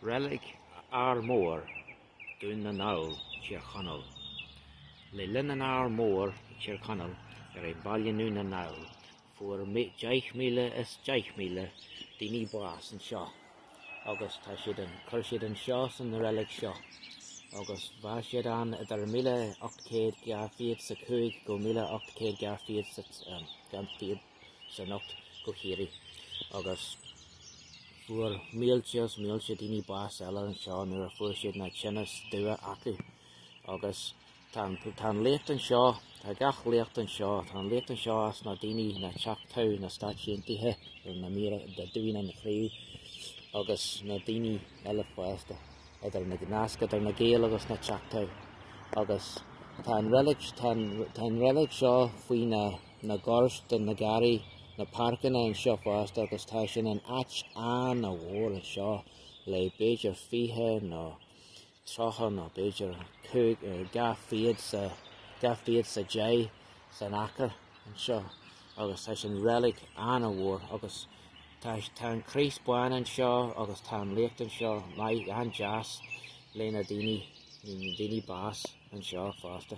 Reilig Ár Mór, Dún na nGall, Tír Chonaill. Le linn an Ár Mór i Tír Chonaill ar an Baile nDún na nGall fuair 10,000 is 10,000 daoine bás anseo agus tá siad an chuir siad anseo san reilig seo agus bhí siad ann idir 1825 go 1828 go hIarraidh agus fuair mílte is mílte daoine bás eile anseo nuair a fuair siad na tinneas dubha acu agus tá tá an léacht anseo tá gach léacht anseo tá an léacht anseo as na daoine na Choctaw na Stáit Aontaithe na míre de dúin an chraobh agus na daoine eile fosta idir na nasc idir na Gaeil agus na Choctaw agus tá an reilig tá an tá an reilig seo faoi na na goirt na garraí na páirceanna anseo fosta agus tá sin an áit an-mhór anseo le b'fhéidir 20 nó 30 nó b'fhéidir 5 200 sa 200 sa 10 san acre anseo agus tá sin reilig an-mhór agus tá tá an Críost bán anseo agus tá an léacht anseo maith an-deas le na daoine na daoine bás anseo fosta.